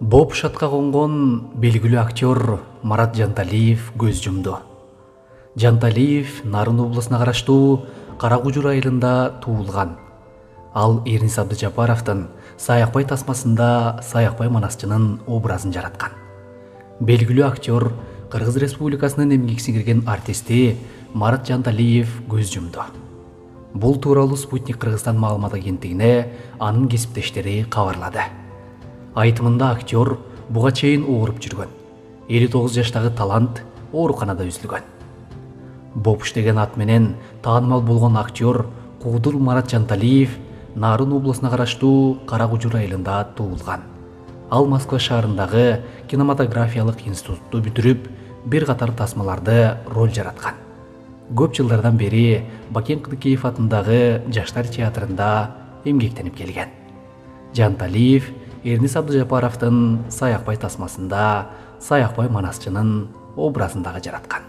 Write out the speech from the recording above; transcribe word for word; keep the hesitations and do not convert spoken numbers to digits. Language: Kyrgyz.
Боп шатка конгон белгилүү актер Марат Жанталиев көз жумду. Жанталиев Нарын облусуна караштуу Кара Кужур айылында туулган. Ал Эрнис Абдыжапаровдун Саякбай тасмасында Саякбай манасчынын образын жараткан. Белгилүү актер Кыргыз Республикасынын эмгек сиңирген артисти Марат Жанталиев көз жумду. Бул тууралуу Спутник Кыргызстан маалымат агенттигине анын кесиптештери кабарлады. Айтымында актер буга чейин ооруп жүргөн. элүү тогуз жаштагы талант ооруканада үзүлгөн. Бопуш деген ат менен таанымал болгон актер Куудур Марат Жанталиев Нарын облусуна караштуу Кара Кужур айылында туулган. Ал Москва шаарындагы кинематографиялык институтту бүтүрүп, бир катар тасмаларды роль жараткан. Көп жылдардан бери Бакен Кыдыкеев атындагы Жаштар театрында эмгектенип келген. Жанталиев Эрнис Абдыжапаровдун Саякбай тасмасында Саякбай манасчынын образын дагы жараткан.